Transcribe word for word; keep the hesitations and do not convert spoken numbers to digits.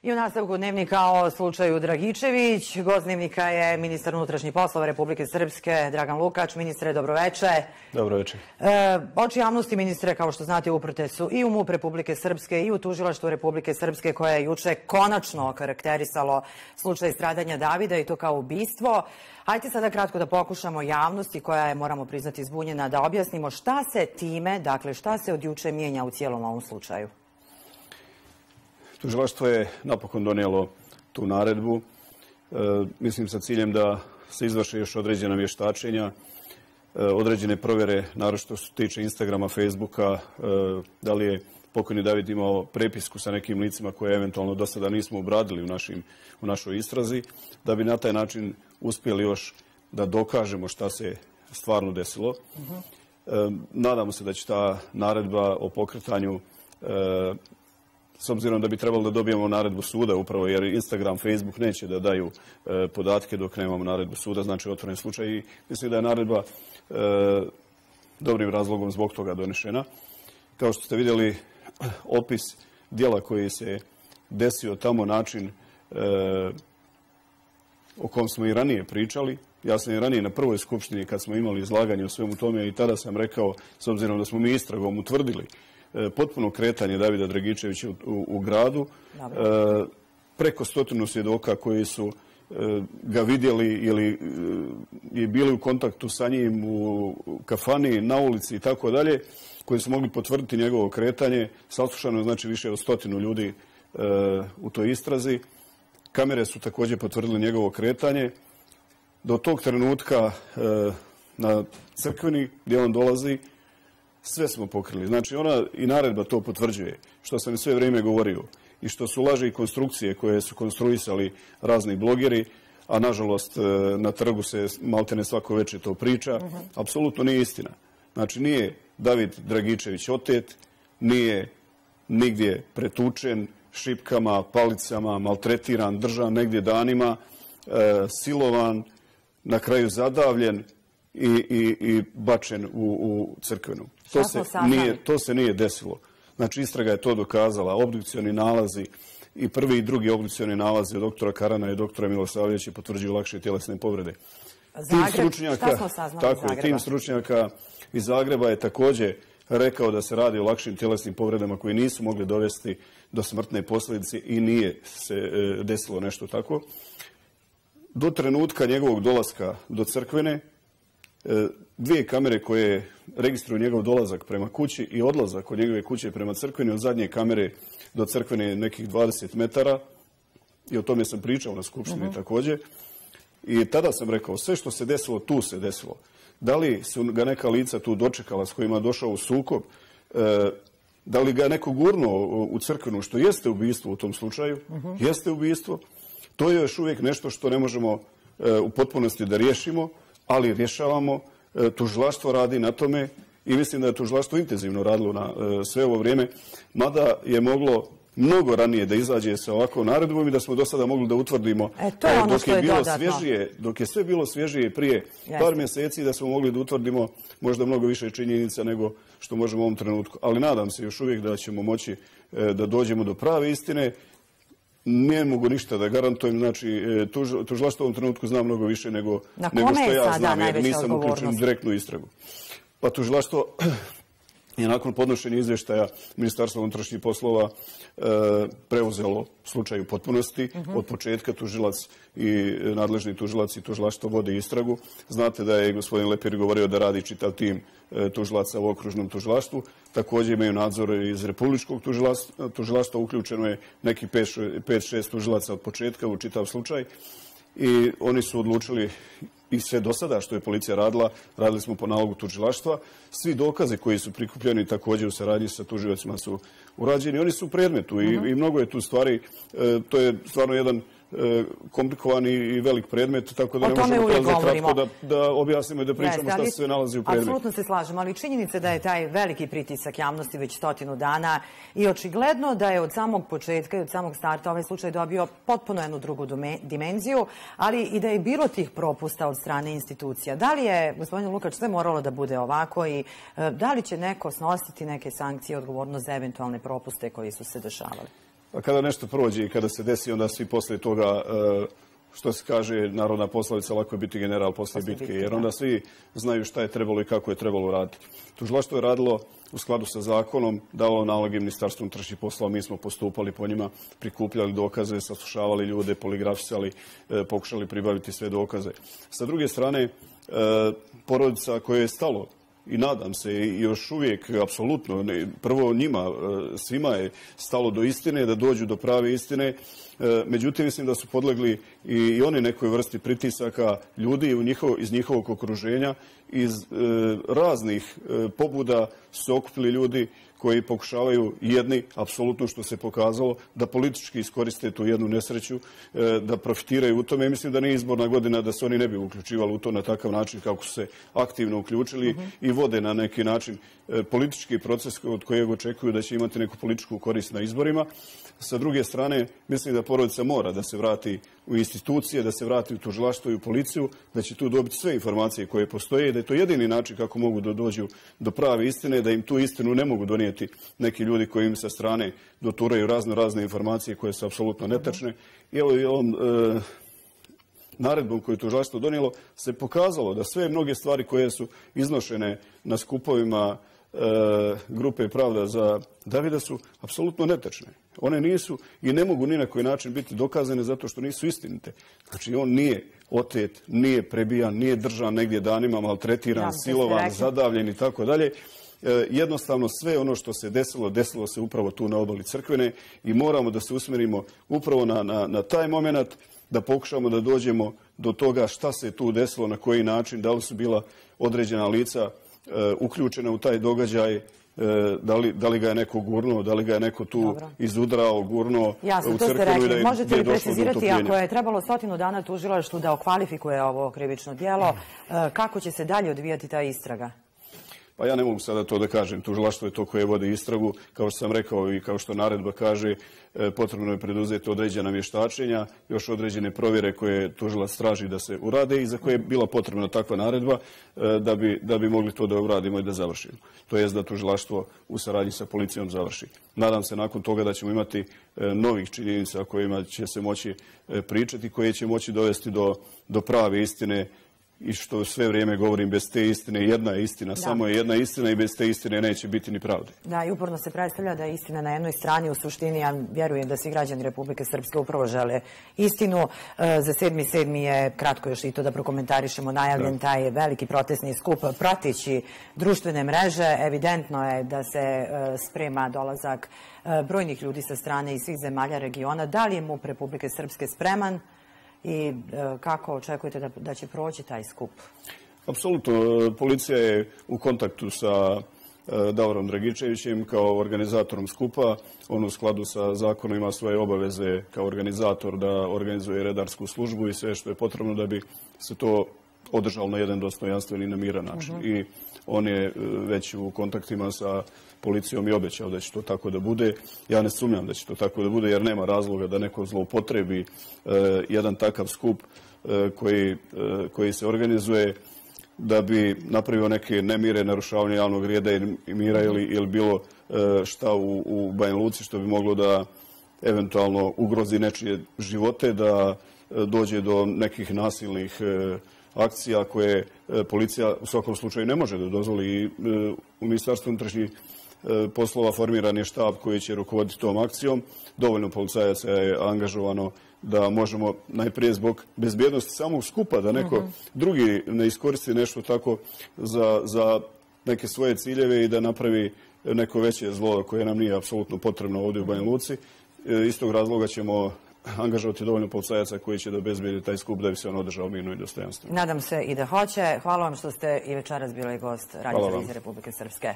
I u nastavku dnevnika o slučaju Dragičević. Gost dnevnika je ministar unutrašnjih poslova Republike Srpske, Dragan Lukač. Ministre, dobroveče. Dobroveče. E, oči javnosti, ministre, kao što znate, uprte su i u MUP Republike Srpske i u Tužilaštvu Republike Srpske, koje je juče konačno okarakterisalo slučaj stradanja Davida i to kao ubistvo. Hajde sada kratko da pokušamo javnosti, koja je, moramo priznati, zbunjena, da objasnimo šta se time, dakle šta se od juče mijenja u cijelom ovom slučaju. Tužilaštvo je napokon donijelo tu naredbu, e, mislim sa ciljem da se izvrše još određena vještačenja, e, određene provjere, naročito što se tiče Instagrama, Facebooka, e, da li je pokojni David imao prepisku sa nekim licima koje eventualno do sada nismo obradili u, našim, u našoj istrazi, da bi na taj način uspjeli još da dokažemo šta se stvarno desilo. Uh-huh. e, nadamo se da će ta naredba o pokretanju e, s obzirom da bi trebalo da dobijemo naredbu suda, upravo jer Instagram, Facebook neće da daju e, podatke dok nemamo naredbu suda, znači otvoren slučaj. I mislim da je naredba e, dobrim razlogom zbog toga donešena. Kao što ste vidjeli, opis dijela koji se desio tamo, način e, o kom smo i ranije pričali. Ja sam i ranije na prvoj skupštini, kad smo imali izlaganje o svemu tome, i tada sam rekao, s obzirom da smo mi istragom utvrdili potpuno kretanje Davida Dragičevića u, u, u gradu, e, preko stotinu svjedoka koji su e, ga vidjeli ili e, je bili u kontaktu sa njim u kafani, na ulici i tako dalje, koji su mogli potvrditi njegovo kretanje. Saslušano je znači više od stotinu ljudi e, u toj istrazi. Kamere su također potvrdile njegovo kretanje. Do tog trenutka e, na Crkveni, gdje on dolazi, sve smo pokrili. Znači, ona i naredba to potvrđuje, što sam sve vrijeme govorio, i što su laži i konstrukcije koje su konstruisali razni blogeri, a nažalost na trgu se maltene svako večer to priča, uh-huh. apsolutno nije istina. Znači, nije David Dragičević otet, nije nigdje pretučen šipkama, palicama, maltretiran, držan negdje danima, e, silovan, na kraju zadavljen i, i, i bačen u, u Crkvenu. To se, nije, to se nije desilo. Znači, istraga je to dokazala. Obdukcioni nalazi i prvi i drugi obdukcioni nalazi od doktora Karana i doktora Milosavljevića potvrđuju lakše tjelesne povrede. Zagreb, šta smo saznali tako, iz Zagreba? Tim stručnjaka iz Zagreba je također rekao da se radi o lakšim tjelesnim povredama koji nisu mogli dovesti do smrtne posljedice i nije se e, desilo nešto tako. Do trenutka njegovog dolaska do Crkvene, dvije kamere koje registruju njegov dolazak prema kući i odlazak od njegove kuće prema Crkveni, od zadnje kamere do Crkvene nekih dvadeset metara, i o tome sam pričao na skupštini uh-huh. također. I tada sam rekao, sve što se desilo, tu se desilo. Da li su ga neka lica tu dočekala s kojima je došao u sukob, e, da li ga je neko gurnuo u Crkvenu, što jeste ubistvo u tom slučaju, uh-huh. jeste ubistvo, to je još uvijek nešto što ne možemo e, u potpunosti da riješimo, ali rješavamo, tužilaštvo radi na tome i mislim da je tužilaštvo intenzivno radilo na sve ovo vrijeme, mada je moglo mnogo ranije da izađe sa ovakvom naredbom i da smo do sada mogli da utvrdimo e, to je ono dok, što je je bilo dodatno. svježije, dok je sve bilo svježije prije Jeste. par mjeseci, da smo mogli da utvrdimo možda mnogo više činjenica nego što možemo u ovom trenutku. Ali nadam se još uvijek da ćemo moći da dođemo do prave istine. Ne mogu ništa da garantujem, znači tuž, tužilaštvo u ovom trenutku zna mnogo više nego, nego što ja znam, jer nisam uključen u direktnu istragu. Pa tužilaštvo je nakon podnošenja izvještaja Ministarstva unutrašnjih poslova e, preuzelo slučaj u potpunosti. Uh-huh. Od početka tužilac i nadležni tužilac i tužilaštvo vode istragu. Znate da je gospodin Lepir govorio da radi čitav tim e, tužilaca u okružnom tužilaštvu. Također imaju nadzor iz republičkog tužilaštva, tužilaštva uključeno je neki pet šest tužilaca od početka u čitav slučaj. I oni su odlučili, i sve do sada što je policija radila, radili smo po nalogu tužilaštva. Svi dokazi koji su prikupljeni također u saradnji sa tužiocima su urađeni. Oni su u predmetu uh-huh. i, i mnogo je tu stvari. E, to je stvarno jedan e, komplikovan i velik predmet, tako da ne možemo prelaziti kratko da, da objasnimo i da pričamo Jeste, šta se sve nalazi u predmetu. Apsolutno se slažemo, ali činjenica da je taj veliki pritisak javnosti već stotinu dana i očigledno da je od samog početka i od samog starta ovaj slučaj dobio potpuno jednu drugu dimenziju, ali i da je bilo tih propusta od strane institucija. Da li je, gospodin Lukač, sve moralo da bude ovako i da li će neko snositi neke sankcije, odgovornost za eventualne propuste koji su se dešavali? A kada nešto prođe i kada se desi, onda svi posle toga, što se kaže narodna poslovica, lako je biti general posle bitke, jer onda svi znaju šta je trebalo i kako je trebalo raditi. Tužilaštvo je radilo u skladu sa zakonom, davalo naloge Ministarstvu unutrašnjih poslova, mi smo postupali po njima, prikupljali dokaze, saslušavali ljude, poligrafisali, pokušali pribaviti sve dokaze. Sa druge strane, porodica koja je stalo, i nadam se i još uvijek, apsolutno, prvo njima, svima je stalo do istine, da dođu do prave istine. Međutim, mislim da su podlegli i oni nekoj vrsti pritisaka ljudi iz njihovog okruženja. Iz raznih pobuda su se okupili ljudi koji pokušavaju jedni, apsolutno što se pokazalo, da politički iskoriste tu jednu nesreću, da profitiraju u tome. Mislim da nije izborna godina da se oni ne bi uključivali u to na takav način kako su se aktivno uključili i vode na neki način politički proces od kojeg očekuju da će imati neku političku korist na izborima. Sa druge strane, mislim da porodica mora da se vrati u institucije, da se vrati u tužilaštvo i u policiju, da će tu dobiti sve informacije koje postoje i da je to jedini način kako mogu da dođu do prave istine, da im tu istinu ne mogu donijeti neki ljudi koji im sa strane doturaju razno razne informacije koje su apsolutno netačne. I evo i ovom e, naredbom koju je tužilaštvo donijelo se pokazalo da sve mnoge stvari koje su iznošene na skupovima grupe Pravda za Davida su apsolutno netačne. One nisu i ne mogu ni na koji način biti dokazane zato što nisu istinite. Znači, on nije otet, nije prebijan, nije držan negdje danima, maltretiran, silovan, zadavljen i tako dalje. Jednostavno, sve ono što se desilo, desilo se upravo tu na obali Crkvene i moramo da se usmerimo upravo na, na, na taj moment, da pokušamo da dođemo do toga šta se tu desilo, na koji način, da li su bila određena lica uključena u taj događaj, da li, da li ga je neko gurnuo, da li ga je neko tu Dobro. izudrao, gurnuo Jasno, u to crkvenu ste rekli. i da je, Možete li precizirati, ako je trebalo stotinu dana tužilaštvu da okvalifikuje ovo krivično djelo, kako će se dalje odvijati ta istraga? Pa ja ne mogu sada to da kažem. Tužilaštvo je to koje vodi istragu. Kao što sam rekao i kao što naredba kaže, potrebno je preduzeti određena vještačenja, još određene provjere koje tužilac traži da se urade i za koje je bila potrebna takva naredba da bi, da bi mogli to da uradimo i da završimo. To jest da tužilaštvo u saradnji sa policijom završi. Nadam se nakon toga da ćemo imati novih činjenica kojima će se moći pričati, koje će moći dovesti do, do prave istine. I što sve vrijeme govorim, bez te istine jedna je istina, da. Samo je jedna istina i bez te istine neće biti ni pravde. Da, i uporno se predstavlja da je istina na jednoj strani, u suštini ja vjerujem da svi građani Republike Srpske upravo žele istinu. Za sedmi sedmi je, kratko još i to da prokomentarišemo, najavljen da. taj veliki protestni skup prateći društvene mreže. Evidentno je da se sprema dolazak brojnih ljudi sa strane iz svih zemalja regiona. Da li je MUP Republike Srpske spreman? I kako očekujete da, da će proći taj skup? Apsolutno. Policija je u kontaktu sa Davorom Dragičevićem kao organizatorom skupa. On u skladu sa zakonom ima svoje obaveze kao organizator da organizuje redarsku službu i sve što je potrebno da bi se to održalo na jedan dostojanstven i na miran način. Uh -huh. I on je već u kontaktima sa policijom i obećao da će to tako da bude. Ja ne sumnjam da će to tako da bude jer nema razloga da neko zloupotrebi uh, jedan takav skup uh, koji, uh, koji se organizuje da bi napravio neke nemire, narušavanje javnog reda i mira ili, ili bilo uh, šta u, u Banja Luci što bi moglo da eventualno ugrozi nečije živote, da uh, dođe do nekih nasilnih uh, akcija koje uh, policija u svakom slučaju ne može da dozvoli. I uh, u Ministarstvu unutrašnjih poslova formiran je štab koji će rukovoditi tom akcijom. Dovoljno policajaca je angažovano da možemo najprije zbog bezbjednosti samog skupa, da neko uh -huh. drugi ne iskoristi nešto tako za, za neke svoje ciljeve i da napravi neko veće zlo koje nam nije apsolutno potrebno ovdje u Banja Luci. Iz tog razloga ćemo angažovati dovoljno policajaca koji će da obezbijedi taj skup da bi se on održao mirno i dostojanstveno. Nadam se i da hoće. Hvala vam što ste i večeras bili gost Radio televizije Republike Srpske.